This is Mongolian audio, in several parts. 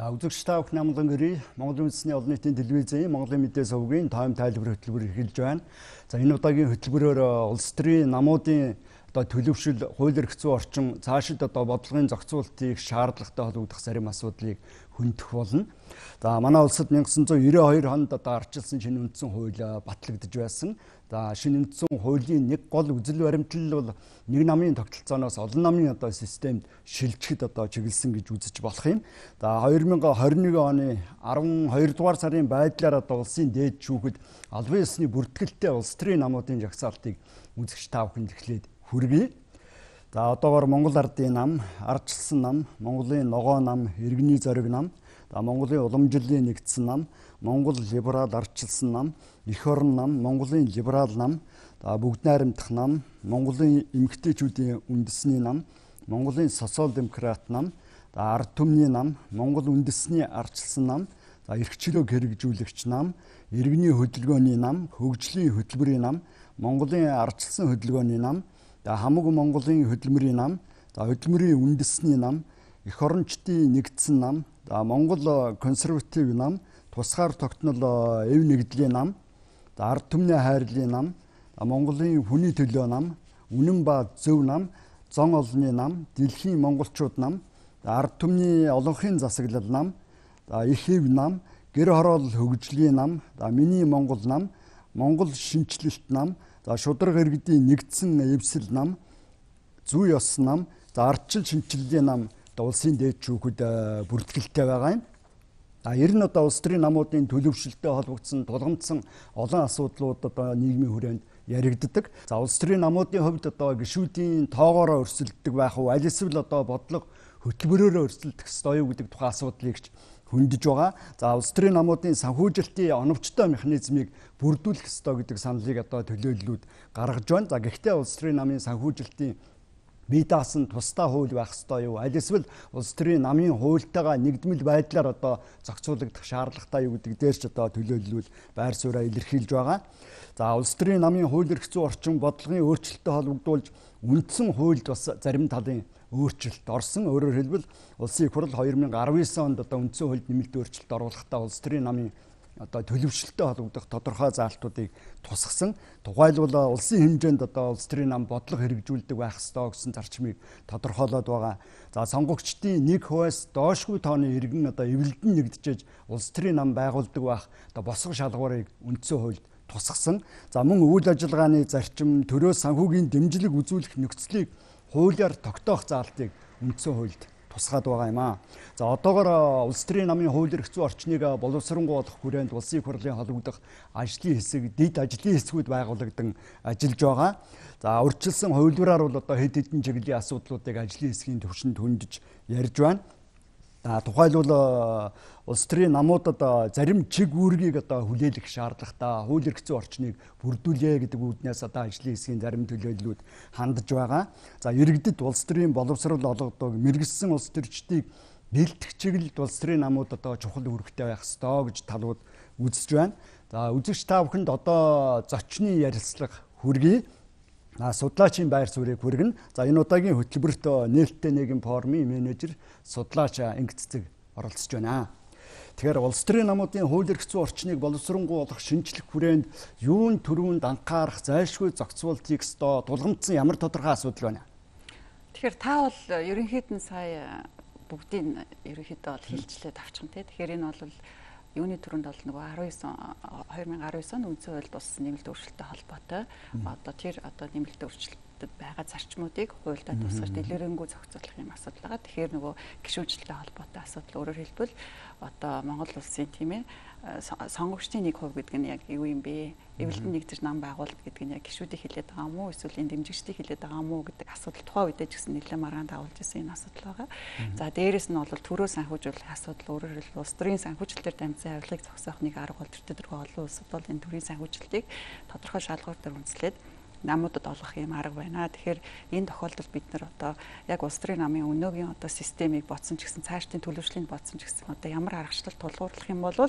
Үзэгч та бүхэн амлан гэрээ Монголын үндэсний олон нийтийн телевизийн Монголын мэдээ сувгийн тайм тайлбар хөтөлбөр эхэлж байна. За энэ удаагийн хөтөлбөрөөр улс төрийн намуудын төлөвшил, хууль эрх зүйн орчин, цаашид бодлогын зохицуултыг шаардлагатай холбогдох зарим асуудлыг хөндөх болно. За манай улсад 1992 онд арчилсан шинэ үндсэн хууль батлагдж байсан. За шинэ үндсэн хуулийн нэг гол үзэл баримтлал бол нэг намын тогтолцооноос олон намын системд шилжихэд чиглэсэн гэж үзэж болох юм. За 2021 оны 12 дугаар сарын байдлаар улсын дээд шүүхэд албан ёсны бүртгэлтэй улс төрийн намуудын жагсаалтыг үзэгч та бүхэнд эхлээд хүргэе. За одоогоор Монгол Ардын нам, Ардчилсан нам, Монголын Ногоо нам, Иргэний зориг нам, Монголын Уламжлалын нэгдсэн нам, Монгол либерал Ардчилсан нам, Эх орон нам, Монголын либерал нам, Бүгд найрамдах нам, Монголын эмэгтэйчүүдийн үндэсний нам, Монголын социал демократ нам, Ард түмний нам, Монгол үндэсний Ардчилсан нам, эрхчлөөг хэрэгжүүлэгч нам, Иргэний хөдөлгөөний нам, Хөгжлийн хөтөлбөрийн нам, Монголын Ардчилсан хөдөлгөөний нам, Хамаг Монголын хөдөлмөрийн нам, хөдөлмөрийн үндэсний нам, Эх орончдын нэгдсэн нам, Монгол консерватив нам, тусгаар тогтнол эв нэгдлийн нам, ард түмний хайрлын нам, Монголын хүний төлөө нам, үнэн ба зөв нам, зон олонний нам, дэлхийн монголчууд нам, ард түмний олонхын засаглал нам, их эв нам, гэр хороол хөгжлийн нам, миний Монгол нам, Монгол шинчлэлт нам, шударга иргэдийн нэгдсэн эвсэл нам, зүй ёс нам, ардчил шинчлэлийн нам улсын дээд шүүхэд бүртгэлтэй байгаа юм. Ер нь улс төрийн намуудын төлөвшөлтөд холбогдсон тулгамдсан олон асуудлууд нийгмийн хүрээнд яригддаг. Улс төрийн намуудын хувьд гишүүдийн тоогоороо өрсөлддөг байх уу, аль эсвэл бодлого хөтөлбөрөөрөө өрсөлдөх ёстой юу гэдэг тухайн асуудлыг хөндөж байгаа. Улс төрийн намуудын санхүүжилтийн оновчтой механизмыг бүрдүүлэх ёстой гэдэг саналыг төлөөллүүд гаргаж байна. Гэхдээ улс төрийн намын санхүүжилтийн бие даасан тусдаа хууль байх ёстой юу? Аль эсвэл улс төрийн намын хуультайгаа нэгдмэл байдлаар зохицуулагдах шаардлагатай юу гэдэг дээр ч төлөөллүүд байр сууриа илэрхийлж байгаа. Улс төрийн намын хууль эрх зүйн орчин бодлогын өөрчлөлтөд холбогдуулж үндсэн хуульд бас зарим талын өөрчлөлт орсон. Өөрөөр хэлбэл улсын их хурл 2019 онд үндсэн хуульд нэмэлт өөрчлөлт оруулахдаа улс төрийн намын төлөвшөлтөд холбогдох тодорхой заалтуудыг тусгасан. Тухайлбал улсын хэмжээнд улс төрийн нам бодлого хэрэгжүүлдэг байх ёстой гэсэн зарчмыг тодорхойлоод байгаа. Сонгогчдын 1%-аас доошгүй тооны иргэн эвлэлдэн нэгдэж улс төрийн нам байгуулдаг байх босго шалгуурыг үндсэн хуульд тусгасан. Мөн үйл ажиллагааны зарчим, төрөөс санхүүгийн дэмжлэг үзүүлэх нөхцөлийг хуулиар тогтоох заалтыг үндсэн хуульд тусгаад байгаа юм аа. Одоогоор улс төрийн намын хууль эрх зүйн орчныг боловсронгуйлах хүрээнд улсын их хурлын холбогдох ажлын хэсэг, дэд ажлын хэсгүүд байгуулагдсан ажиллаж байгаа. Урьдчилсан хувилбараар бол хэд хэдэн чиглэлийн асуудлуудыг ажлын хэсгийн түвшинд хөндөж ярьж байна. Тухайлбал улс төрийн намуудад зарим чиг үүргийг хүлээлгэх шаардлагатай, хууль эрх зүйн орчныг бүрдүүлээ гэдэг үүднээс ажлын хэсгийн зарим төлөөллүүд хандж байгаа. Иргэдэд улс төрийн боловсрол олгодог, мэргэжсэн улс төрчдийг бэлтгэх чиглэлд улс төрийн намуудад чухал үүрэгтэй байх ёстой гэж талууд үзэж байна. Үзэгч та бүхэнд зочны ярилцлага хүргэе. Судлаачийн байр суурийг хүргэнэ. Энэ удаагийн хөтөлбөрт нээлттэй нийгэм форумын менежер судлаач Ангиццэг оролцож байна. Тэгэхээр улс төрийн намуудын хууль эрх зүйн орчныг боловсронгуйлах шинжлэх хүрээнд юун төрөнд анхаарах зайлшгүй зохицуултыг тулгамдсан ямар тодорхой асуудал байна? Тэгэхээр та бол ерөнхийдөө сая бүгдийг ерөнхийдөө хэлжлээд авчихна тий. Тэгэхээр энэ бол юуны төрөнд бол нөгөө 2019 онд үндсэн хуульд болсон нэмэлт өөрчлөлттэй холбоотой тэр нэмэлт өөрчлөлтөд байгаа зарчмуудыг хуульдаа тусгаж дэлгэрэнгүй зохицуулах юм асуудал байгаа. Тэгэхээр нөгөө гишүүнчлэлтэй холбоотой асуудал өөрөөр хэлбэл Монгол улсын тийм ээ сонгогчдын 1% гэдэг нь яг юу юм бэ? Эвлэлдэн нэгдэж нам байгуулалт гэдэг нь яг гишүүдийг хэлээд байгаа юм уу? Эсвэл энэ дэмжигчдийг хэлээд байгаа юм уу гэдэг асуудал тухайн үедээ ч гэсэн нэлээд маргаан дагуулж ирсэн энэ асуудал байгаа. За дээрэс нь бол төрөө санхүүжүүлэх асуудал өөрөөр хэлбэл улс төрийн санхүүжилтээр дамжсан авилгыг зогсоох нэг арга бол төрөө олон улсад бол энэ төрийн санхүүжилтийг тодорхой шалгуур дээр үндэслээд намуудад олгох юм арга байна. Тэгэхээр энэ тохиолдолд бид нар яг улс төрийн намын өнөөгийн системийг бодсон ч гэсэн цаашдын төлөвшлийн бодсон ч гэсэн ямар аргачлал тулгуурлах юм бол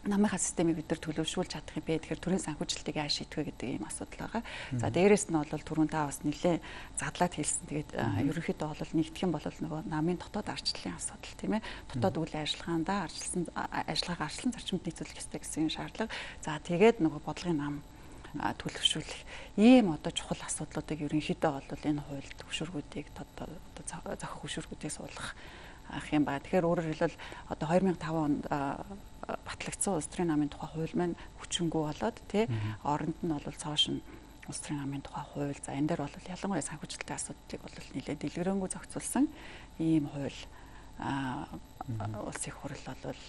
намынхаа системийг бид нар төлөвшүүлж чадах юм бэ? Тэгэхээр төрийн санхүүжилтийг яаж шийдвэ гэдэг ийм асуудал байгаа. За дээрэс нь бол түрүүн та бас нэлээд задлаад хэлсэн. Тэгээд ерөнхийдөө бол нэгдэх юм бол нөгөө намын дотоод ардчлалын асуудал тийм ээ. Дотоод үйл ажиллагаандаа ажиллагаа арчлан зарчимд нийцүүлэх ёстой гэсэн шаардлага. За тэгээд нөгөө бодлогын нам төлөвшүүлэх ийм одоо чухал асуудлуудыг ерөнхийдөө бол энэ хууль төвшөргүүдийг одоо зохих хөшүүргүүдийг суулгах ах юм ба. Тэгэхээр өөрөөр хэлбэл одоо 2005 онд батлагдсан улс төрийн намын тухай хууль маань хүчингүй болоод тий оронд нь бол цоошин улс төрийн намын тухай хууль за энэ дээр бол ялангуяа санхүүжилтийн асуудлыг бол нэлээд дэлгэрэнгүй зохицуулсан ийм хууль улс их хурл бол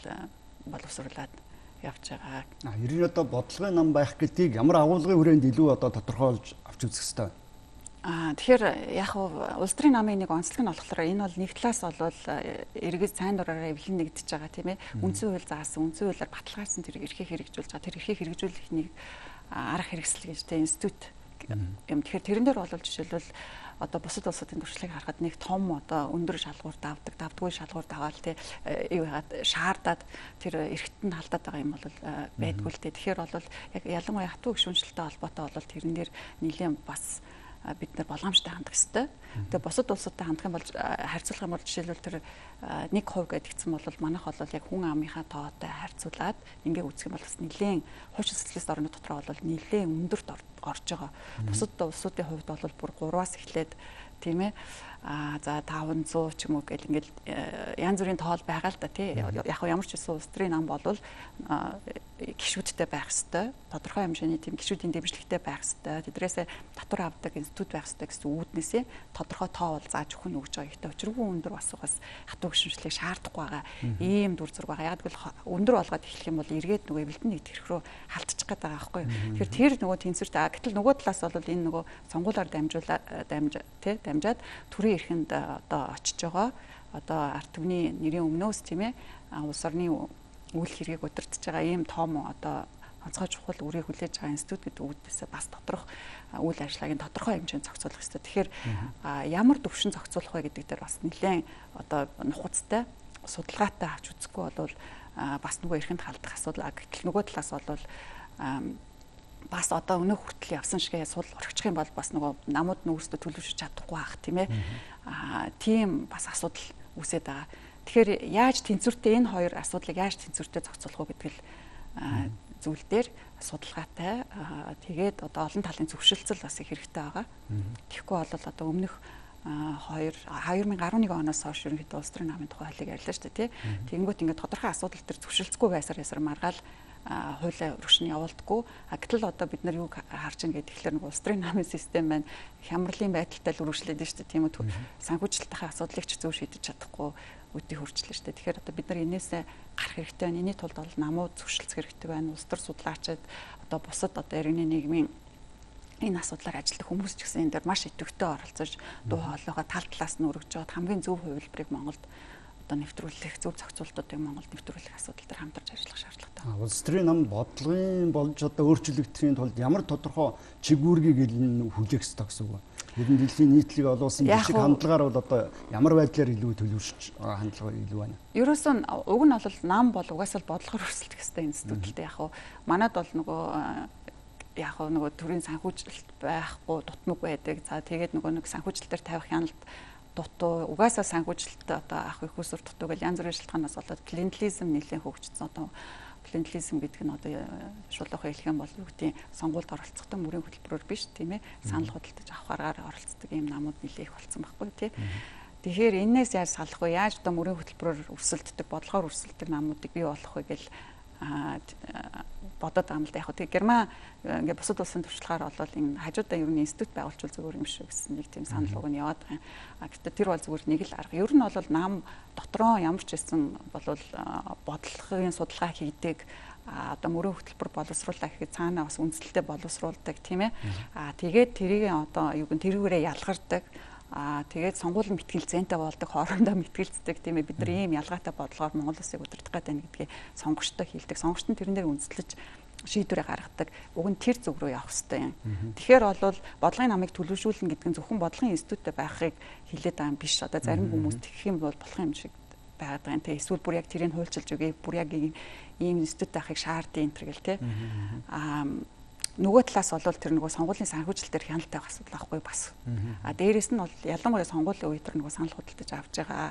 боловсруулад явж байгаа. Ер нь одоо бодлогын нам байх гэдгийг ямар агуулгын хүрээнд илүү одоо тодорхойлж авч үзэх хэрэгтэй. Тэгэхээр яг улс төрийн намын нэг онцлог нь болохоор энэ бол нэг талаас бол иргэд сайн дураараа эвлэн нэгдэж байгаа тийм ээ. Үндсэн хууль заасан, үндсэн хуулиар баталгаажсан тэр эрхийг хэрэгжүүлж байгаа. Тэр эрхийг хэрэгжүүлэх нэг арга хэрэгсэл гэж тийм институт юм. Тэгэхээр тэрэн дээр бол жишээлбэл одоо бусад улсуудын туршлагыг харахад нэг том одоо өндөр шалгуур давдаггүй шалгуур даваал тий юу яагаад шаардаад тэр эрхтэнд нь халдаад байгаа юм бол байдгүй л дээ. Тэгэхээр бол яг ялангуяа хатуу гишүүнчлэлтэй холбоотой бол тэрэн дээр нэлээд бас бид нар болгоомжтой хандах хэрэгтэй. Тэгээ бусад улсуудтай хандах юм бол харьцуулах юм бол жишээлбэл тэр 1% гэдгийгсэн бол манайх бол яг хүн амынхаа тоотой харьцуулаад ингээ үзэх юм бол бас нэлээд хуучин социалист орны дотор бол нэлээд өндөрт орж байгаа. Бусад улсуудын хувьд бол бүр 3-аас эхлээд тийм ээ за 500 ч юм уу гэл ингээл янз бүрийн тоол байгаа л да тий. Яг ямар ч байсан улс төрийн нам болвол гишүүдтэй байх ёстой. Тодорхой хэмжээний тийм гишүүдийн дэмжлэгтэй байх ёстой. Тэдрээсээ татвар авдаг институт байх ёстой гэсэн үүднээсээ тодорхой тоо бол зааж өгөх нь өгж байгаа. Ихтэй өчргөө өндөр бас хатуу гишүүнчлийг шаардахгүй байгаа. Ийм дүр зураг байгаа. Яг л өндөр болгоод эхлэх юм бол эргээд нөгөө эвлэлтэн нэгдэх эрх рүү халтчих гээд байгаа байхгүй. Тэгэхээр тэр нөгөө тэнцвэртэй. Гэтэл нөгөө талаас бол энэ нөгөө сонгуулиар дамжаад төрийн эрхэнд одоо очиж байгаа. Одоо ард түмний нэрийн өмнөөс тийм ээ улс орны үйл хэргийг удирдах байгаа ийм том одоо онцгой чухал үрийг хүлээж байгаа институт гэдэг үүднээсээ бас доторх үйл ажиллагааг тодорхой хэмжээнд зохицуулах хэрэгтэй. Тэгэхээр ямар төвшин зохицуулах вэ гэдэг дээр бас нэлээд одоо нухацтай судалгаатай авч үзэхгүй бол бас нөгөө эрхэнд халдах асуудал. Гэтэл нөгөө талаас бол бас одоо өнөө хүртэл явсан шигээ сул орчих юм бол бас нөгөө намууд нь өөрсдөө төлөвшөж чадахгүй байх тийм ээ. Тийм бас асуудал үүсээд байгаа. Тэгэхээр яаж тэнцвэртэй энэ хоёр асуудлыг яаж тэнцвэртэй зохицуулах вэ гэдэг л зүйл дээр судалгаатай тэгээд одоо олон талын зөвшөлтсөл бас их хэрэгтэй байгаа. Тэгэхгүй бол одоо өмнөх 2011 оноос хойш ерөнхийдөө улс төрийн намын тухай хуулийг ярьлаа шүү дээ тий. Тэгэнгүүт ингээд тодорхой асуудал төр зөвшөлтсгүй байсаар маргаал хуулиа өргөшн явуулдаггүй. Гэтэл одоо бид нар юу харж байгаа гэхээр нэг улс төрийн намын систем маань хямралын байдалтай л үргэлжлээд байна шүү дээ тийм үү. Санхүүжилтийн асуудлыг ч зөв шийдэж чадахгүй үдий хурцлаа шүү дээ. Тэгэхээр одоо бид нар энээсээ гарах хэрэгтэй байна. Энэний тулд бол намууд зөвшөлдөх хэрэгтэй байна. Улс төр судлаачид одоо бусад одоо иргэний нийгмийн энэ асуудлаар ажилладаг хүмүүс ч гэсэн энэ дээр маш идэвхтэй оролцож дуу хоолойгоо тал талаас нь өргөж жоод хамгийн зөв хувилбарыг Монголд одоо нэвтрүүлэх, зөв зохицуултуудыг Монголд нэвтрүүлэх асуудал дээр хамтарч ажиллах шаардлагатай. Улс төрийн нам бодлогын болж одоо өөрчлөгдөхийн тулд ямар тодорхой чигүүргийг хүлээх ёстой гэсэн үг. Ер нь дэлхийн нийтлэг олуулсан жишг хандлагаар бол одоо ямар байдлаар илүү төлөвшөж хандлага илүү байна. Ерөөсөө уг нь бол нам бол угаасаа бодлогоор өрсөлдөх ёстой институттэй яг уу. Манайд бол нөгөө төрийн санхүүжилт байхгүй дутмаг байдаг. За тэгээд нөгөө нэг санхүүжилтээр тавих хяналт дутуу угаасаа санхүүжилт одоо ах их усүр дутуу гэл янз бүрийн шалтгаанаас болоод клиентелизм нэлээд хөгжсөн. Одоо клиентелизм гэдэг нь одоо шулуухай хэлэх юм бол юу гэдэг сонгуульд оролцохдоо мөрийн хөтөлбөрөөр биш тийм ээ санал худалдаж авах аргаар оролцдог ийм намууд нэлээд их болсон байхгүй тийм. Тэгэхээр энээс яаж салах вэ? Яаж одоо мөрийн хөтөлбөрөөр өрсөлддөг, бодлогоор өрсөлддөг намуудыг бий болгох вэ гэл бодоод байгаа юм л да. Яг тэгээ Герман ингээд бусад улсын туршлагаар бол энэ хажуудаа ер нь институт байгуулчвал зүгээр юм шиг гэсэн нэг тийм санал уг нь яваад байгаа. Гэхдээ тэр бол зүгээр нэг л арга. Ер нь бол нам дотроо ямар ч байсан бол бодлогын судалгаа хийдэг одоо мөрийн хөтөлбөр боловсруулах гэхэд цаанаа бас үндэслэлтэй боловсруулдаг тийм ээ. Тэгээд тэрийг одоо юу гэн тэрүүгээрээ ялгардаг. Тэгээд сонгуулийн мэтгэлзэнтэй болдог, хоорондоо мэтгэлцдэг тийм ээ. Бид нар ийм ялгаатай бодлогоор Монгол улсыг удирдах гэдэг нь гэдгийг сонгогчтой хэлдэг. Сонгогч нь тэрэн дээр үндэслэж шийдвэрээ гаргадаг. Уг нь тэр зүг рүү явах хэрэгтэй юм. Тэгэхээр бол бодлогын намыг төлөвшүүлнэ гэдэг нь зөвхөн бодлогын институттэй байхыг хэлээд байгаа юм биш. Одоо зарим хүмүүс тэгэх юм бол болох юм шиг байгаад байгаа юм те. Эсвэл бүр яг тэрийг хуульчилж өгье. Бүр яг ийм институт байхыг шаардсан энэ төр гэл те. Нөгөө талаас бол тэр нөгөө сонгуулийн санхүүжилт дээр хяналттай байх асуудал байхгүй бас. Дээрээс нь бол ялангуяа сонгуулийн үе тэр нөгөө санал худалдаж авч байгаа.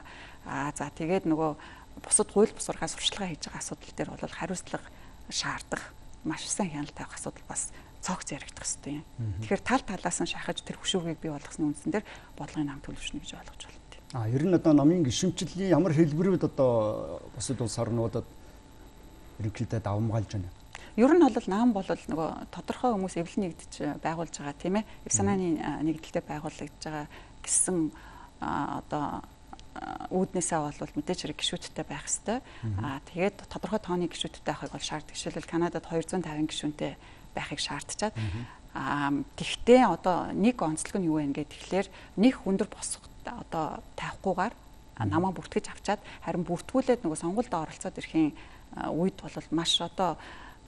За тэгээд нөгөө бусад хууль бусургаас сурчлагаа хийж байгаа асуудал дээр бол хариуцлага шаардах маш сайн хяналттай байх асуудал бас цогц яригдах хэрэгтэй юм. Тэгэхээр тал талаас нь шахаж тэр хөшөөгийг бий болгосны үндсэн дээр бодлогын нам төлөвшнө гэж ойлгож байна. Ер нь одоо намын гишүүнчлийн ямар хэлбэрүүд одоо бусад улс орнуудад ерөнхийдөө давамгаалж байна. Ер нь бол нам бол нөгөө тодорхой хүмүүс эвлэн нэгдэж байгуулж байгаа тийм ээ. Эв санааны нэгдэлтэй байгуулагдж байгаа гэсэн одоо үүднээсээ бол мэдээж хэрэг гишүүдтэй байх хэвээр. Тэгээд тодорхой тооны гишүүдтэй байхыг бол шаарддаг. Жишээлбэл Канадад 250 гишүүнтэй байхыг шаардчаад. Тэгвэл одоо нэг онцлог нь юу вэ гэхээр нэг хүндэр босгод одоо тавихгүйгээр намаа бүртгэж авчаад харин бүртгүүлээд нөгөө сонгуульд оролцоод ирэхийн үед бол маш одоо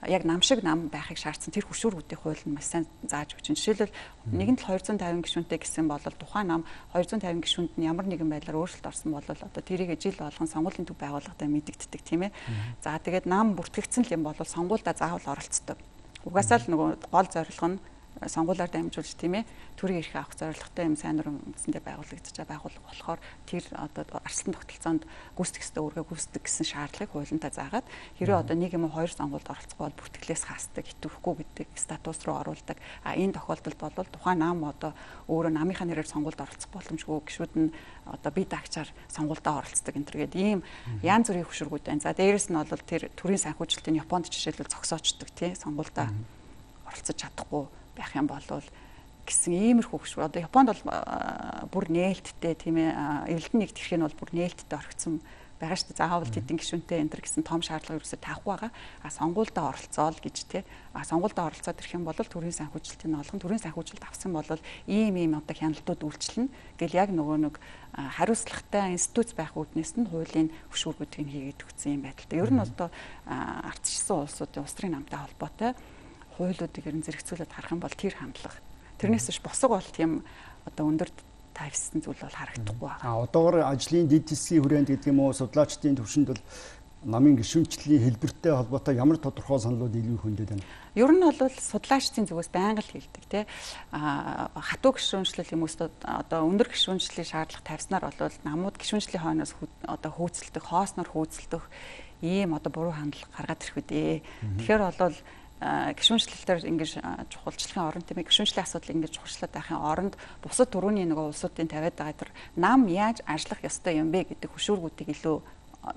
яг нам шиг нам байхыг шаардсан тэр хөшүүргүүдийн хууль нь маш сайн зааж өгч байна. Жишээлбэл нэгэнд л 250 гишүүнтэй гэсэн бол тухайн нам 250 гишүүнд нь ямар нэгэн байдлаар өөрчлөлт орсон бол одоо тэрийг жил болгон сонгуулийн төв байгууллагатай мэдэгддэг тийм ээ. За тэгээд нам бүртгэгдсэн юм бол сонгуульдаа заавал оролцдог. Угаасаа л нөгөө гол зорилго нь сонгуулиар дамжуулж тийм ээ төрийн эрх авах зорилготой юм сайн нуран үндсэндээ байгуулагдаж байгаа байгууллага болохоор тэр одоо арслан тогтолцоонд гүйцэтгэх ёстой үүргээ гүйцэтгэх гэсэн шаардлагыг хуулиндаа заагаад хэрэв одоо нэг юм уу хоёр сонгуульд оролцох бол бүртгэлээс хаасдаг хитвэхгүй гэдэг статус руу оруулдаг. Энэ тохиолдолд бол тухайн нам одоо өөрөө намынхаа нэрээр сонгуульд оролцох боломжгүй гишүүд нь одоо бие даагчаар сонгуульдаа оролцдог энэ төргээд ийм янз бүрийн хөшүүргүүд байна. За дээрэс нь бол тэр төрийн санхүүжилтийн Японд жишээлбэл зогсоочдөг тий сонгуульдаа оролцож чадахгүй байх юм бол гэсэн иймэрхүү хөшүүр. Одоо Японд бол бүр нээлттэй тийм ээ эвлэлтэн нэгт хэрэг нь бол бүр нээлттэй орхицсан байгаа шүү дээ. Заавал тэдэн гишүүнтэй энэ төр гэсэн том шаардлага ерөөсөй таахгүй байгаа. Сонгуульдаа оролцоол гэж тий. Сонгуульдаа оролцоод ирэх юм бол төрийн санхүүжилтийн олгон төрийн санхүүжилт авсан бол ийм одоо хяналтууд үйлчлэнэ гэл яг нөгөө нэг хариуцлагатай институт байх үүднээс нь хуулийн хөшүүргүүдийг хийгээд өгсөн юм байдалтай. Ер нь одоо ардчилсан улсуудын улс төрийн намтай холбоотой хуулиудыг ер нь зэрэгцүүлээд харах юм бол тэр хандлага. Тэрнээс биш босго бол тийм одоо өндөр тавьсан зүйл бол харагдахгүй байна. Одоогор ажлын дэд хэсгийн хүрээнд гэдэг юм уу судлаачдын төвшөнд бол намын гишүүнчлийн хэлбэртэй холбоотой ямар тодорхой саналууд илүү их хөндөд байна? Ер нь бол судлаачдын зүгээс байнга л хэлдэг тий. Хатуу гишүүнчлэл юм уу одоо өндөр гишүүнчлийн шаардлага тавьснаар бол намууд гишүүнчлийн хойноос одоо хөөцөлдөх, хоосноор хөөцөлдөх ийм одоо буруу хандлага гаргаад ирэх үдээ. Тэгэхээр бол гишүүнчлэлээр ингэж чухалчлахын оронд тийм ээ гишүүнчлийн асуудал ингэж чухалчлаад байхын оронд бусад төрөний нөгөө улсуудын тавиад байгаа тэр нам яаж ажиллах ёстой юм бэ гэдэг хөшүүргүүдийг илүү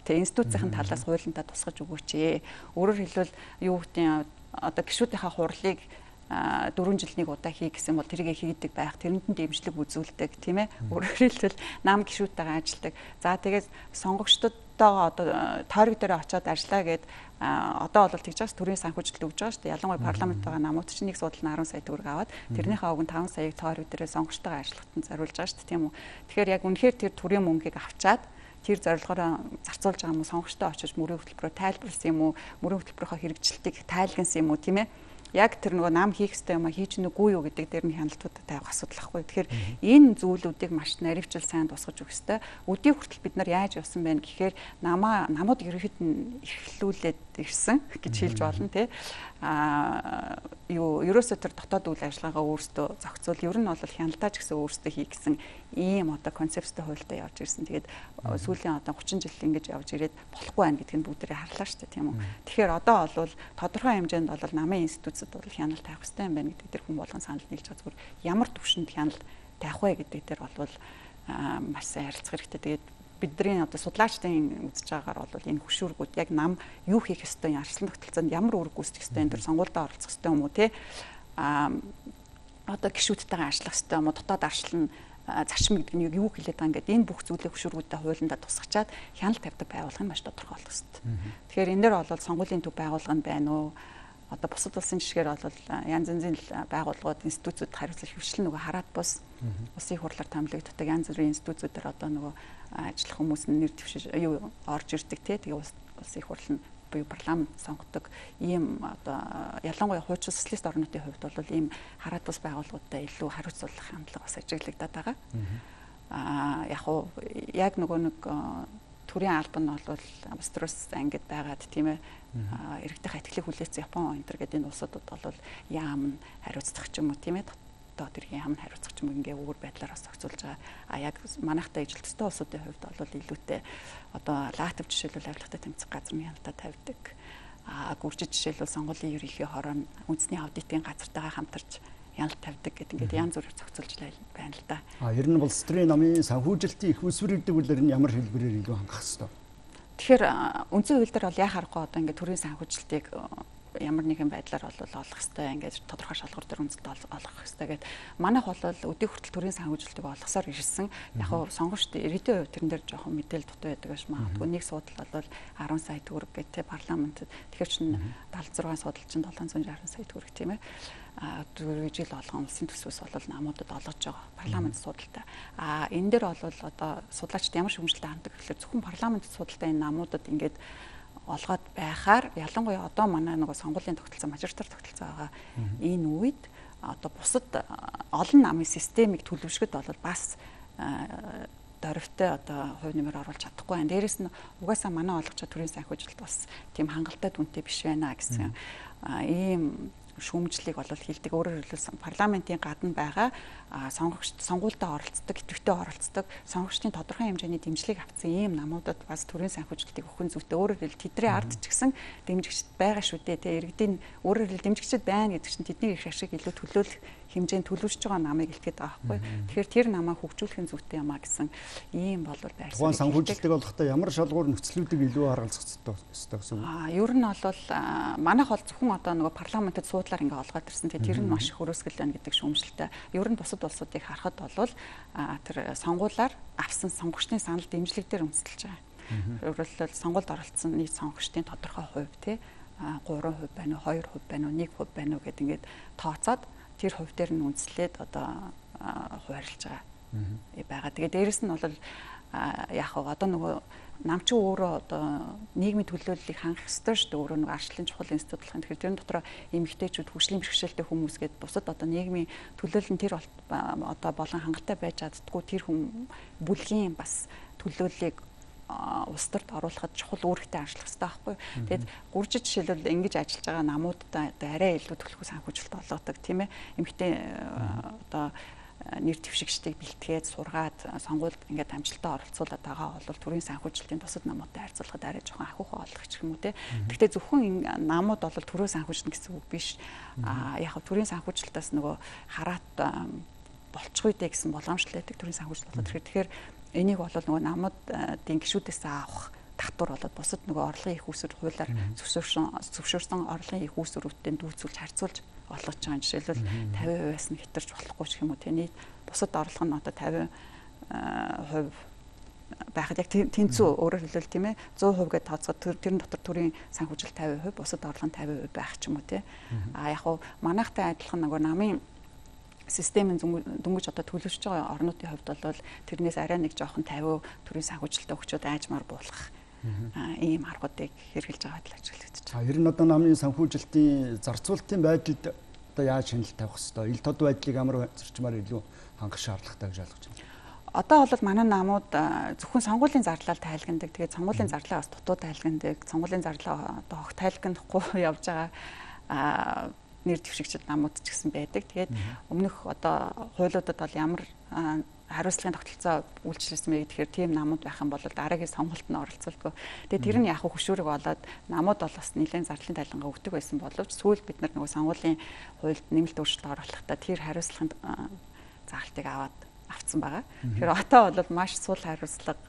тэг институцийн талаас хуулиндаа тусгаж өгөөч. Өөрөөр хэлбэл юу гэдэг одоо гишүүдийнхаа хурлыг 4 жил нэг удаа хий гэсэн бол тэрийг хийдэг байх, тэрэнд нь дэмжлэг үзүүлдэг тийм ээ. Өөрөөр хэлбэл нам гишүүдтэйгээ ажилладаг. За тэгээд сонгогчдодоо одоо тойрог дээр очиод ажиллаа гэд одоо бол тэгж байгаас төрийн санхүүжилт өгж байгаа шүү дээ. Ялангуяа парламент байгаа намууд чинь нэг судал нь 10 сая төгрөг аваад тэрнийхээ уг нь 5 саяыг тойрог дээрээ сонгогчтойгоо ажиллахад зориулж байгаа шүү дээ тийм үү. Тэгэхээр яг үнэхээр тэр төрийн мөнгийг авчаад тэр зорилгоороо зарцуулж байгаа юм уу сонгогчтой очиж мөрийн хөтөлбөрөөр тайлбарласан юм уу мөрийн хөтөлбөрийнхөө хэрэгжилтийг тайлгансан юм уу тийм ээ. Яг тэр нөгөө нам хийх ёстой юм а хийж нүггүй юу гэдэг дээр нь хяналтуудад тавих асуудал ахгүй. Тэгэхээр энэ зүйлүүдийг маш наривчл сайн тусгаж өгөх ёстой. Өдний хүртэл бид нар яаж явсан бэ гэхээр намууд ерөнхийд нь эрхлүүлээд ирсэн гэж хэлж болно тий. Ерөөсөө тэр дотоод үйл ажиллагаагаа өөрсдөө зохицуул. Ер нь бол хяналтаач гэсэн өөрсдөө хий гэсэн ийм одоо концепттэй хуультай явж ирсэн. Тэгээд сүүлийн одоо 30 жил ингэж явж ирээд болохгүй байх гэдгийг бүгдээрээ харлаа шүү дээ тийм үү. Тэгэхээр одоо бол тодорхой хэмжээнд бол намын институцид бол хяналт тавих хэрэгтэй юм байна гэдэг дээр хүн болгон санал нийлж байгаа. Зүгээр ямар төвшөнд хяналт тавих вэ гэдэг дээр бол маш сайн ярилцах хэрэгтэй. Тэгээд бидний одоо судлаачдын үзэж байгаагаар бол энэ хөшүүргүүд яг нам юу хийх ёстой юм арслан тогтолцоонд ямар үүрэг гүйцэтгэх ёстой энэ төр сонгуульдаа оролцох ёстой юм уу те одоо гишүүдтэйгээ ажиллах ёстой юм уу дотоод аршлан зарчим гэдэг нь юу хэлээд байгаа ингээд энэ бүх зүйлийг хөшүүргүүдэд хуулиндаа тусгачаад хяналт тавьдаг байгууллага нь маш тодорхой болох ёстой. Тэгэхээр энэ дээр бол сонгуулийн төв байгууллага нь байна уу? Одоо бусад улсын жишгээр бол янз янзын байгууллагууд институцүүд хариуцлага хөвчлэн нөгөө хараат бус улсын хурлаар томилогддог янз бүрийн институцүүдээр одоо нөгөө ажиллах хүмүүс нь нэр дэвшиж орж ирдэг те тэгээ улсын хурл нь буюу парламент сонгодог ийм одоо ялангуяа хуучин социалист орнуудын хувьд бол ийм хараат бус байгууллагуудтай илүү хариуцлах хандлага бас ажиглагдаад байгаа. Яг нөгөө нэг төрийн албан нь бол Австралиас ангид байгаад тийм ээ иргэдийн ихтгэлийг хүлээсэн Япон энэ төр гэдэг энэ улсуудад бол яам хариуцлах ч юм уу тийм ээ одоо тэр яам хариуцлах ч юм уу ингээ өөр байдлаар зохицуулж байгаа. Яг манайхтай ижилттэй улсуудын хувьд бол илүүтэй одоо латв жишээлбэл авилгатай тэмцэх газар нь хяналтаа тавьдаг. Гүржид жишээлбэл сонгуулийн ерөнхий хорон үндэсний аудитын газартайгаа хамтарч яналт тавьдаг гэдэг ингээд янз бүрээр зохицуулж байна л да. Ер нь улс төрийн намын санхүүжилтийн их усврэгдэг үл нь ямар хэлбэрээр илүү хангах хэвээр. Тэгэхээр үндсэн хууль дээр бол яа харахгүй одоо ингээд төрийн санхүүжилтийг ямар нэгэн байдлаар бол олох хэвээр ингээд тодорхой шалгуур дээр үндэслэлд олох хэвээр гэдэг. Манайх бол өдөө хүртэл төрийн санхүүжилтийг олгосоор ирсэн. Яг нь сонгогчд иргэдийн хувьд тэрэн дээр жоохон мэдээлэл дутуу байдаг гэж магадгүй. Нэг судал бол 10 сая төгрөг гэдэг парламентд. Тэгэхээр чинь 76 судал чинь 760 сая төгрөг тийм ээ. Жил болгон улсын төсвөөс бол намуудад олгож байгаа парламент судалтай. Энэ дээр бол одоо судлаачид ямар шүүмжлэлтэй ханддаг гэхээр зөвхөн парламент судалтай энэ намуудад ингээд олгоод байхаар ялангуяа одоо манай нөгөө сонгуулийн тогтолцоо мажоритар тогтолцоо байгаа энэ үед одоо бусад олон намын системийг төлөвшгöd бол бас дөрвтэй одоо хувь нэмэр оруулж чадахгүй байна. Дээрээс нь угаасаа манай олгож байгаа төрийн санхүүжилт бас тийм хангалттай дүнтэй биш байна гэсэн ийм шүүмжлэлийг бол хийлдэг. Өөрөөр хэлбэл парламентын гадна байгаа сонгуультай оролцдог, идэвхтэй оролцдог, сонгогчдын тодорхой хэмжээний дэмжлэг авсан ийм намуудад бас төрийн санхүүжилтийг өгөх нь зүйтэй. Өөрөөр хэлбэл тэдний ард ч гэсэн дэмжигчд байгаа шүү дээ. Тэгээ иргэдийн өөрөөр хэлбэл дэмжигчд байна гэдэг чинь тэдний их ашиг илүү төлөөлөх хэмжээнд төлөвшөж байгаа намыг илтгэдэг байгаа байхгүй. Тэгэхээр тэр намаа хөгжүүлэх нь зүйтэй юмаа гэсэн ийм бол байрсан. Тухайн санхүүжилтийг олохдоо ямар шалгуур нөхцлүүдийг илүү харгалзах ёстой гэсэн үг. Ер нь бол манайх бол зөвхөн одоо нөгөө парламентод суудлаар ингээ олгоод ирсэн. Тэгээ тэр нь маш их хөрөөсгөл байна гэдэг шүүмжлэлтэй. Ер нь бусад улсуудыг харахад бол тэр сонгуулаар авсан сонгогчдын санал дэмжлэг дээр үндэслэж байгаа. Өөрөлдөл сонгуульд оролцсон нийт сонгогчдын тодорхой хувь тий 3% байна уу, 2% байна уу, 1% байна уу гэдэг ингээд тооцоод тэр хувь дээр нь үндэслээд одоо хуваарлж байгаа. Тэгээд дээрэс нь бол яг одоо нөгөө намчин өөрөө одоо нийгмийн төлөөллийг хангах ёстой шүү дээ. Өөрөө нөгөө арчлалын чухал институт болох. Тэгэхээр тэрэн дотор эмэгтэйчүүд хөгжлийн бэрхшээлтэй хүмүүс гээд бусад одоо нийгмийн төлөөлөл нь тэр одоо болон хангалттай байж чаддгүй тэр хүн бүлгийн бас төлөөллийг улс төрд оруулахад чухал үүрэгтэй ажиллах хэрэгтэй байхгүй. Тэгээд гүржид жишээлбэл ингэж ажиллаж байгаа намуудад арай илүү төлөвлөгөө санхүүжилт олгодог тийм ээ. Эмэгтэй одоо нэр дэвшигчдийг бэлтгээд сургаад сонгуульд ингээд амжилттай оролцуулаад байгаа бол төрийн санхүүжилтийн бусад намуудтай харьцуулахад арай жоохон ахиухан олох гэх юм уу те. Гэхдээ зөвхөн намууд бол төрөө санхүүжилнэ гэсэн үг биш. Яг нь төрийн санхүүжилтаас нөгөө хараат болчихгүй дээ гэсэн боломжтой байдаг төрийн санхүүжилт болоод тэгэхээр энийг бол нөгөө намуудын гишүүдээс авах татвар болоод бусад нөгөө орлогын их үүсвэр хуулиар зөвшөөрсөн орлогын их үүсвэрүүдтэй дүүцүүлж харьцуулж олгож байгаа. Жишээлбэл 50%-аас нь хэтэрч болохгүй ч юм уу тийм бусад орлого нь одоо 50% байхад яг тэнцүү өөрөөр хэлбэл тийм ээ 100% гэж тооцоод тэрэн дотор төрийн санхүүжилт 50%, бусад орлого нь 50% байх ч юм уу тийм. Яг хуу манайхтай адилхан нөгөө намын системийн дөнгөж одоо төлөвшөж байгаа орнуудын хувьд бол тэрнээс арай нэг жоохон 50% төрийн санхүүжилтөд өгчөөд айжмаар буулгах ийм аргуудыг хэрэгжилж байгаа л ажиглагдаж байгаа. Ер нь одоо намын санхүүжилтийн зарцуулалтын байдалд одоо яаж хяналт тавих хэвээр ил тод байдлыг амар зарчмаар илүү хангах шаардлагатай гэж ойлгож байна. Одоо бол манай намууд зөвхөн сонгуулийн зарлал тайлгандаг. Тэгээд сонгуулийн зарлаа бас дутуу тайлгандаг. Сонгуулийн зарлаа одоо огт тайлгнахгүй явж байгаа нэр дэвшигчд намууд ч гэсэн байдаг. Тэгээд өмнөх одоо хуулиудад бол ямар хариуцлагын тогтолцоо үйлчлүүлсэн бэ гэхээр тийм намууд байх юм бол дараагийн сонголтод нь оролцуулдаг. Тэгээд тэр нь яг хөшүүрэг болоод намууд бол бас нэлээд зарлалын тайлгангаа өгдөг байсан боловч сүүлд бид нар нөгөө сонгуулийн хуульд нэмэлт өөрчлөлт оруулахдаа тэр хариуцлагын заалтыг авцсан байгаа. Тэгэхээр одоо бол маш сул хариуцлага.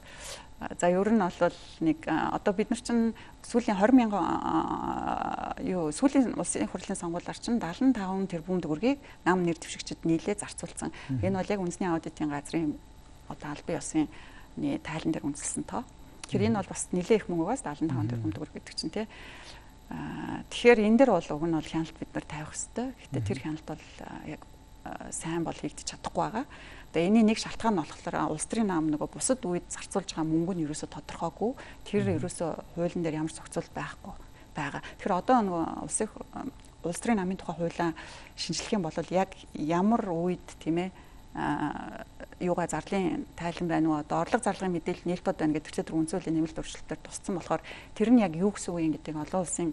За ер нь бол нэг одоо бид нар чинь сүүлийн 20,000 сүүлийн улсын хурлын сонгуулиар чинь 75 тэрбум төгрөгийг нам нэр дэвшигчид нийлээ зарцуулсан. Энэ бол яг үндэсний аудитын газрын одоо албан ёсны тайлан дээр үндэслсэн тоо. Тэгэхээр энэ бол бас нэлээ их мөнгөөс 75 тэрбум төгрөг гэдэг чинь тий. Тэгэхээр энэ дээр бол уг нь бол хяналт бид нар тавих хэрэгтэй. Гэхдээ тэр хяналт бол яг сайн бол хийгдэж чадахгүй байгаа. Тэгээ энэний нэг шалтгаан нь болохоор улс төрийн нам нөгөө бусад үед зарцуулж байгаа мөнгө нь ерөөсө тодорхойгүй. Тэр ерөөсө хуулийн дээр ямар зохицуулт байхгүй байгаа. Тэгэхээр одоо нөгөө улс төрийн намын тухай хуулиа шинжлэх юм бол яг ямар үед тийм ээ юугаа зарлын тайлан байна уу одоо орлого зарлагын мэдээлэл нээлттэй байна гэдэг тэр үнцөлийн нэмэлт өөрчлөлтөөр тусцсан болохоор тэр нь яг юу гэсэн үг юм гэдэг олон улсын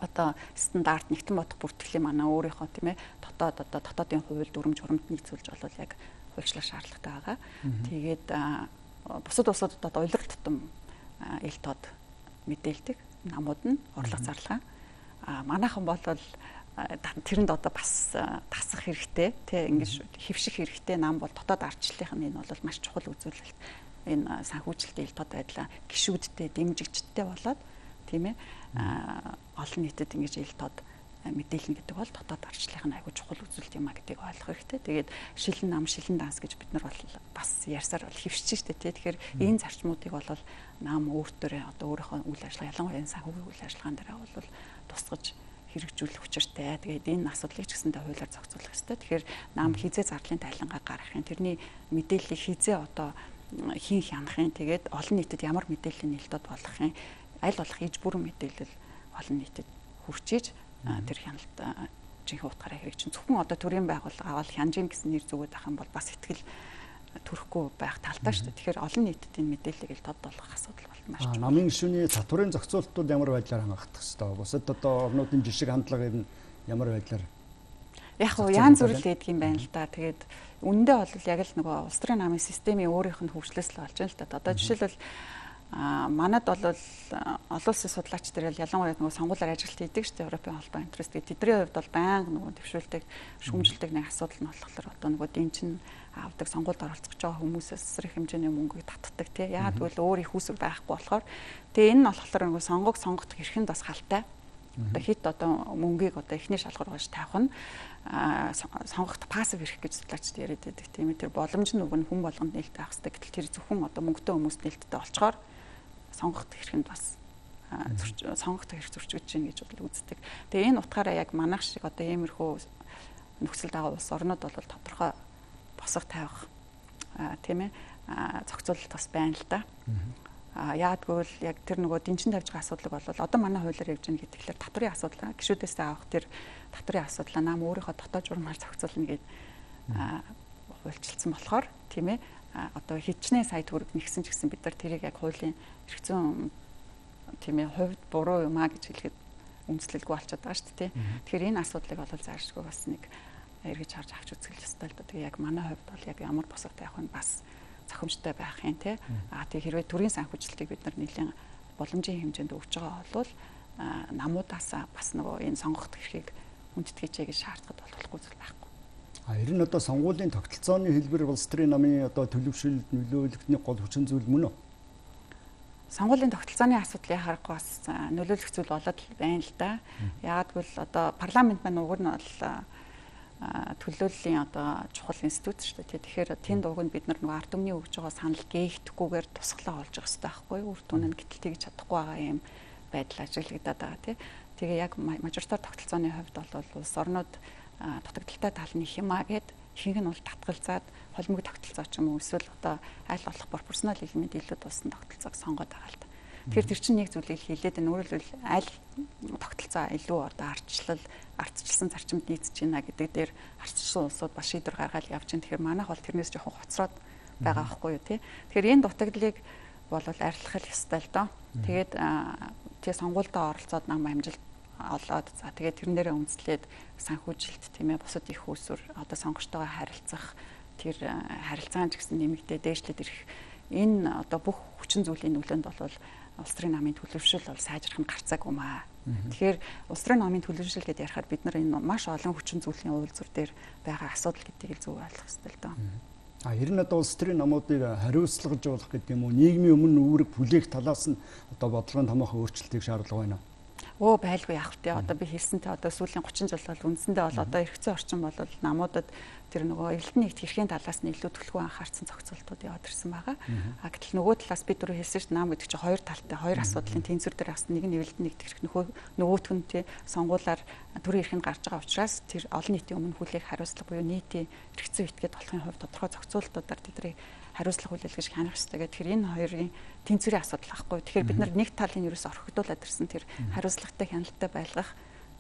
одоо стандарт нэгтэн бодох бүртгэлийн манай өөрийнхөө тийм ээ дотоодын хувьд дүрм журамд нийцүүлж болол яг хуульчлах шаардлагатай байгаа. Тэгээд бусад улсуудад одоо улирал тутам ил тод мэдээлдэг намууд нь орлого зарлага. Манайхан бол тэрэнд одоо бас тасах хэрэгтэй тийм ингэж хэвших хэрэгтэй нам бол дотоод ардчлалын энэ бол маш чухал үзүүлэлт. Энэ санхүүжилтийн ил тод байдлаа гишүүдтэй дэмжигчдтэй болоод тийм ээ олон нийтэд ингэж ил тод мэдээлнэ гэдэг бол дотоод ардчлалын аягүй чухал үзүүлэлт юм а гэдгийг ойлгох хэрэгтэй. Тэгээд шилэн нам шилэн данс гэж бид нар бол бас ярьсаар бол хэвшиж штэ тий. Тэгэхээр энэ зарчмуудыг бол нам өөртөө одоо өөрийнхөө үйл ажиллагаа ялангуяа энэ санхүүгийн үйл ажиллагаан дээр бол тусгаж хэрэгжүүлэх учиртай. Тэгээд энэ асуудлыг ч гэсэндээ хуулиар зохицуулах хэрэгтэй. Тэгэхээр нам хизээ зарлалын тайлангаа гаргахын тэрний мэдээллийг хизээ одоо хийн хянахын тэгээд олон нийтэд ямар мэдээллийн нээлттэй болгохын аль болох иж бүрэн мэдээлэл олон нийтэд хүрчиж тэр хяналт жинхэнэ утгаараа хэрэгжин зөвхөн одоо төрийн байгууллага аваад хянжин гэсэн нэр зүгээд байх юм бол бас ихтгэл төрөхгүй байх талтай шүү дээ. Тэгэхээр олон нийтэд энэ мэдээллийг ил тод болгох асуудал бол маш чухал. Намын гишүүний татварын зохицуулалтууд ямар байдлаар хангах хэвээр бусад одоо орнуудын жишг хандлагыг нь ямар байдлаар яг уу янз бүр л гэдэг юм байна л да. Тэгээд үндэ бол яг л нөгөө улс төрийн намын системийн өөрийнх нь хөгжлөөс л болж байна л да. Одоо жишээлбэл манад бол олон улсын судлаач нар ялангуяа нөгөө сонгуулиар ажилт хийдэг шүү дээ. Европын холбоо интерес. Тэдний хувьд бол байнга нөгөө төвшүүлдэг, шүүмжилдэг нэг асуудал нь болохоор одоо нөгөө дэнчин авдаг сонгуульд оролцож байгаа хүмүүсээс сэрэх хэмжээний мөнгөийг татдаг тий. Яагаад гэвэл өөр их үүсвэр байхгүй болохоор. Тэгээ энэ нь болохоор нөгөө сонгох эрхэнд бас халтай. Одоо хит одоо мөнгийг одоо эхний шалгуур гоош тавих нь сонгоход пассив эрх гэж судлаачд яриад байдаг тийм ээ. Тэр боломж нь нөгөө хүн болгонд нээлттэй байх хэрэгтэй. Гэтэл тэр зөвхөн одоо мөнгөтэй хүмүүст нээлттэй болчоор сонгоход эрхэнд бас сонгоход эрх зөрчиж чинь гэж бол үздэг. Тэгээ энэ утгаараа яг манайх шиг одоо иймэрхүү нөхцөл дагуу улс орнууд бол тодорхой босго тавих тийм ээ зохицуулалт бас байна л да. Яадгүй л яг тэр нөгөө дэнчин тавьж байгаа асуудлыг бол одоо манай хуулиар явж байгаа гэхэлэр татврын асуудал гишүүдээс авах тэр татврын асуудал нам өөрийнхөө дотоод журмаар зохицуулна гэд хуульчилсан болохоор тийм ээ одоо хичнээн сая төгрөг нэгсэн ч гэсэн бид нар тэрийг яг хуулийн эрх зүйн тийм ээ хувьд буруу юм а гэж хэлэхэд үндэслэлгүй болчиход байгаа шүү дээ. Тэгэхээр энэ асуудлыг бол заашгүй бас нэг эргэж харж авч үзэх ёстой л да. Тэгээ яг манай хувьд бол яг ямар босго тавих нь бас зохимжтой байх юм тий. Тэг хэрвээ төрийн санхүүжилтийг бид нар нэлийн боломжийн хэмжээнд өгж байгаа бол намуудаас бас нөгөө энэ сонгохт эрхийг хүндэтгэж гэж шаардлагад болохгүй зүйл байхгүй. Ер нь одоо сонгуулийн тогтолцооны хэлбэр улс төрийн намын одоо төлөвшөлд нөлөөлөхний гол хүчин зүйл мөн үү? Сонгуулийн тогтолцооны асуудлыг харахгүй бас нөлөөлөх зүйл болоод байна л да. Яагад бол одоо парламент маань уг нь бол төлөөллийн одоо чухал институт шүү дээ. Тэгэхээр тэнд уг нь бид нар нөгөө ард түмний өгж байгаа санал гээхдэггүйгээр тусглаа олж явах хэрэгтэй байхгүй юу? Үр дүн нь гэтэл тэгж чадахгүй байгаа юм байдал ажиглагдаад байгаа тий. Тэгээ яг мажоритар тогтолцооны хувьд бол улс орнууд дутагдaltaй тал нь хямаа гэд ихэнх нь бол татгалзаад холимог тогтолцоо ч юм уу эсвэл одоо аль болох пропорционал элемент илүү туссан тогтолцоог сонгоод байгаа л да. Тэгэхээр тэр чинь нэг зүйлийг хэлээд энэ өөрөөр хэлбэл аль тогтолцоо илүү одоо ардчилсан зарчимд нийцэж байна гэдэг дээр ардчилсан улсууд бас шийдвэр гаргаад явж байна. Тэгэхээр манайх бол тэрнээс жоохон хоцроод байгаа байхгүй юу тий. Тэгэхээр энэ дутагдлыг бол арилгах ёстой л доо. Тэгээд тэгээ сонгуульдаа оролцоод нам амжилт олоод за тэгээд тэрнээрээ үндэслээд санхүүжилт тийм ээ бусад их усүр одоо сонгогчтойгоо харилцах тэр харилцаан ч гэсэн нэмэгдээ дээшлээд ирэх энэ одоо бүх хүчин зүйлийн нөлөөнд бол улс төрийн намын төлөвшил бол сайжрах нь гарцаагүй маа. Тэгэхээр улс төрийн намын төлөвшил гэдээ ярихад бид нар энэ маш олон хүчин зүйлийн уулзвар дээр байгаа асуудал гэдгийг зөв ойлгох хэрэгтэй л доо. Ер нь одоо улс төрийн намуудыг хариуцлагажуулах гэдэг юм уу нийгмийн өмнө үүрэг бүлээх талаас нь одоо бодлогын томоохон өөрчлөлтийг шаардлага байна. Байлгүй яах вэ? Одоо би хэлсэнтэй одоо сүүлийн 30 жил бол үндсэндээ бол одоо эрх зүйн орчин бол намуудад тэр нөгөө эрэлтний нэгт хэрхийн талаас нь илүү төлөвлөгөө анхаарсан зохицуултууд яваад ирсэн байгаа. Гэтэл нөгөө талаас би түрүү хэлсэн шүү дээ нам гэдэг чинь хоёр талтай, хоёр асуудлын тэнцвэр дээр бас нэг нь эрэлтний нэгт хэрэг нөгөөх нь тий сонгуулаар төрийн эрхэнд гарч байгаа учраас тэр олон нийтийн өмнө хүлээх хариуцлага буюу нийтийн эрх зүйн этгээд болохын хувьд тодорхой зохицуултуудаар тэдний хариуцлага хүлээлгэж хянах хэрэгтэй гэх тэгэхээр энэ хоёрын тэнцвэрийн асуудал байхгүй. Тэгэхээр бид нар нэг талын ерөөс орхигдуулаад ирсэн тэр хариуцлагатай хяналттай байлгах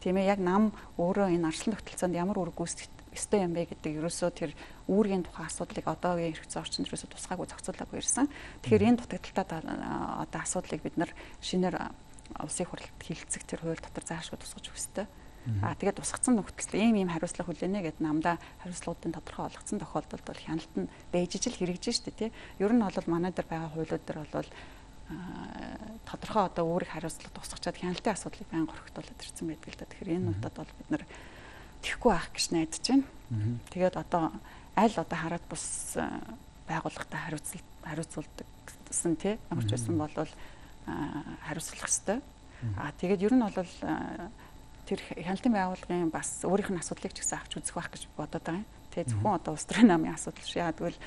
тийм ээ яг нам өөрөө энэ арслан тогтолцоонд ямар үр гүйцэтгэх ёстой юм бэ гэдэг ерөөсөө тэр үүргийн тухайн асуудлыг одоогийн эрх зүйн орчинд ерөөсөө тусгаагүй зохицуулаагүй ирсэн. Тэгэхээр энэ дутагдaltaй одоо асуудлыг бид нар шинээр улсын хурлд хилцэх тэр хууль дотор заашгүй тусгаж өгөх ёстой. Тэгээд тусгацсан нөхцөлд ийм хариуцлага хүлээнэ гэдэг намдаа хариуцлагуудын тодорхой олгоцсон тохиолдолд бол хяналт нь байж ижил хэрэгжиж штэ тий. Ер нь бол манай дээр байгаа хуулиуд дээр бол тодорхой одоо үүрэг хариуцлага тусгачаад хяналтын асуудлыг байнга орхитуулаад ирсэн байдаг л да. Тэгэхээр энэ удаад бол бид нар тэхгүй байх гэж найдаж байна. Тэгээд одоо аль одоо хараад бус байгууллагатай хариуцуулдагсан тий. Ямар ч байсан бол хариуцлах ёстой. Тэгээд ер нь бол тэр хяналтын байгууллагын бас өөрийнх нь асуудлыг ч гэсэн авч үзэх байх гэж бодоод байгаа юм. Тэгээд зөвхөн одоо улс төрийн намын асуудал шүү. Яа тэгвэл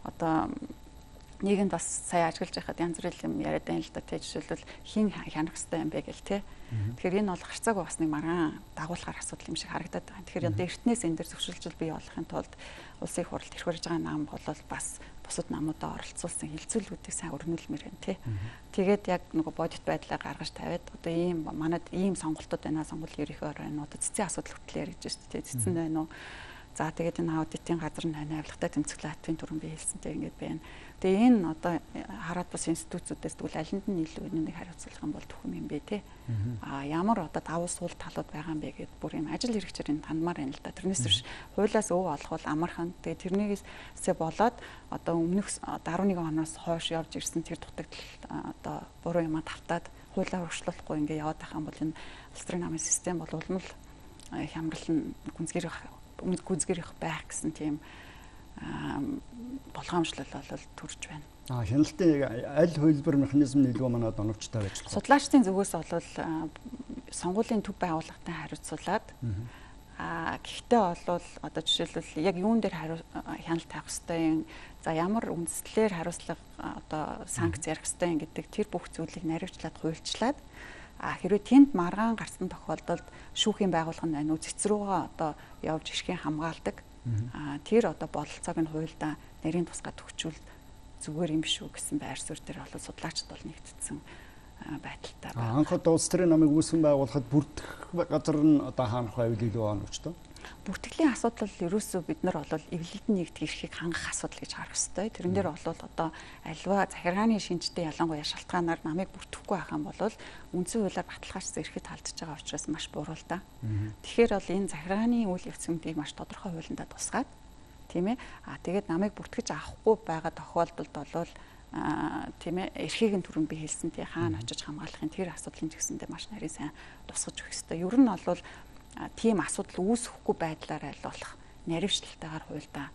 одоо нийгэмд бас сая ажиглаж байхад янз бүрийн юм яриад байна л да. Тэ жишээлбэл хин хянах хэрэгтэй юм бэ гэл тэ. Тэгэхээр энэ бол харьцаагүй бас нэг маргаан дагуулгаар асуудал юм шиг харагдаад байгаа. Тэгэхээр одоо эртнээс энэ дээр зөвшөөрлж бий болохын тулд улсын хурлд ирэх барьж байгаа нам бол бас бусад намуудаа оролцуулсан хилцүүлгүүдийг сайн өрнүүлмээр байна тий. Тэгээд яг нөгөө бодит байдлаа гаргаж тавиад одоо ийм манад ийм сонголтууд байна. Сонгуулийн ерөнхий орон одоо цэцэн асуудал хөтлөө ярьж байна тий. Цэцэн байна уу? За тэгээд энэ аудитын газар нь авилгатай тэмцэглэл хатвын дүрэн бий хэлсэнтэй ингэж байна. Тэгээ энэ одоо хараад бас институтуудаас тэгвэл алинд нь илүү нэг хариуцлах юм бол төхөм юм бэ те. Ямар одоо давуу сул талууд байгаа юм бэ гэд бүр юм ажил хэрэгчээр энэ тандмаар байна л да. Тэрнээс биш хуулиас өв олох бол амархан. Тэгээ тэрнээсээ болоод одоо өмнөх 11 оноос хойш явж ирсэн тэр дутагдал одоо буруу юм тавтаад хуулиар өргөжлөхгүй ингэ яваад байх юм бол энэ улс төрийн намын систем бол улам л хямрал нь гүнзгийрэх байх гэсэн тийм болгоомжлол бол төрж байна. Хяналтын аль хөлбөр механизм нь илүү манад оновчтой байж болох. Судлаачдын зүгээс бол сонгуулийн төв байгууллагатай хариуцуулаад гэхдээ бол одоо жишээлбэл яг юун дээр хяналт тавих ёстой юм, за ямар үндслээр хариуцлага одоо санкц ярих ёстой юм гэдэг тэр бүх зүйлийг наривчлаад хуульчлаад хэрвээ тэнд маргаан гарсан тохиолдолд шүүхийн байгууллага нь байна уу цэцрүүгээ одоо явж ирхийн хамгаалдаг. Тэр одоо бололцоог нь хуульдаа нарийн тусгай төгчүүл зүгээр юм шүү гэсэн байр суурь дээр бол судлаачд бол нэгдсэн байдалтай байна. Анхад улс төрийн намыг үүсгэн байгуулахад бүрдэх газар нь одоо хаанах байвал илүү оновчтой? Бүртгэлийн асуудал ерөөсөө бид нар бол эвлэлтэн нэгдэх эрхийг хангах асуудал гэж харах хэрэгтэй. Тэрэн дээр бол одоо альва захиргааны шинжтэй ялангуяа шалтгаанаар намыг бүртгэхгүй байх юм бол үндсэн хуулиар баталгаажсан эрхэд халдж байгаа учраас маш буруу л да. Тэгэхээр бол энэ захиргааны үйл явцуудыг маш тодорхой хуулиндаа тусгаад тийм ээ. Тэгээд намыг бүртгэж авахгүй байгаа тохиолдолд бол тийм ээ эрхийг нь түрүүнд би хэлсэн тий хаана очиж хамгаалахын тэр асуудлын жигсэндээ маш нарийн сайн тусгаж өгөх хэрэгтэй. Ер нь бол тийм асуудал үүсэхгүй байдлаар айлуулах наривчлалтайгаар хуульдаа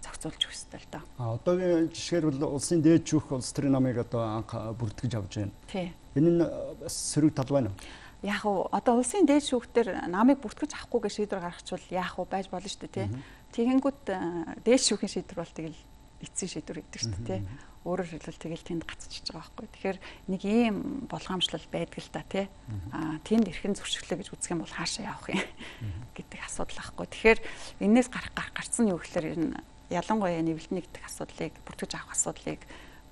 зохицуулж өгөх ёстой л доо. Одоогийн жишгээр бол улсын дээд шүүх улс төрийн намыг одоо анх бүртгэж авч байна. Тий. Энэ нь сөрөг тал байна уу? Яг уу одоо улсын дээд шүүхтэр намыг бүртгэж авахгүй гэж шийдвэр гаргachвал яах вэ байж болно шүү дээ тий. Тэгэнгүүт дээд шүүхийн шийдвэр бол тэгэл эцсийн шийдвэр гэдэг шүү дээ тий. Өөрөөр хэлбэл тэгэл тэнд гацчихж байгаа байхгүй. Тэгэхээр нэг ийм болгоомжлол байдаг л да тий. Тэнд эрхэн зөрчиглөө гэж үзэх юм бол хаашаа явах юм гэдэг асуудал байхгүй. Тэгэхээр энээс гарцсан юу гэхээр энэ ялангуяа нэвлэлт нэгдэх асуудлыг бүртгэж авах асуудлыг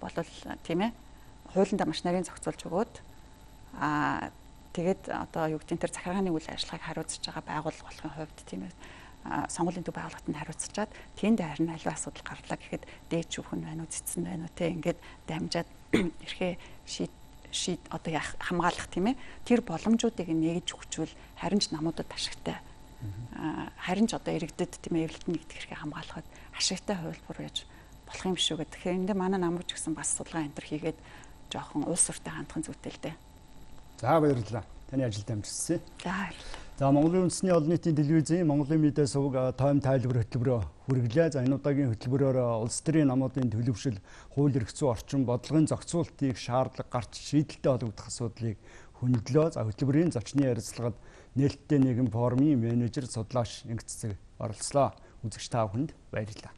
болол тийм ээ хуулиндаа маш нарийн зохицуулж өгөөд тэгээд одоо юу гэдэг нь тэр захиргааны үйл ажиллагааг хариуцж байгаа байгууллага болохын хувьд тийм ээ сонгуулийн төв байгууллагад хариуцчаад тэнд харин аливаа асуудал гарлаа гэхэд дээд шүүх нь байна уу цэцэн байна уу те ингээд дамжаад эрхээ шийд одоо хамгаалах тийм ээ тэр боломжуудыг нэгж өгчвөл харин ч намуудад ашигтай харин ч одоо иргэдэд тийм ээ эвлэлтэн нэгдэх эрхээ хамгаалахад ашигтай хувилбар яаж болох юм шүү гэдэг. Тэгэхээр энэ манай намууч гэсэн бас судалгаа энтер хийгээд жоохон улс ортой хандхан зүйтэй л дээ. За баярлалаа. Таны ажилд амжилтсан. За баярлалаа. За Монголын үндэсний олон нийтийн телевизийн Монголын медиа суваг тойм тайлбар хөтөлбөрөөр хүргэлээ. За энэ удаагийн хөтөлбөрөөр улс төрийн намуудын төлөвшил, хууль эрх зүйн орчин, бодлогын зохицуултыг шаардлага гарч шийдэлтэй болгох асуудлыг хөндлөө. За хөтөлбөрийн зочны ярилцлагад нээлттэй нийгэм форумын менежер судлаач Янг Цэцэг оролцлоо. Үзэгч та бүхэнд баярлалаа.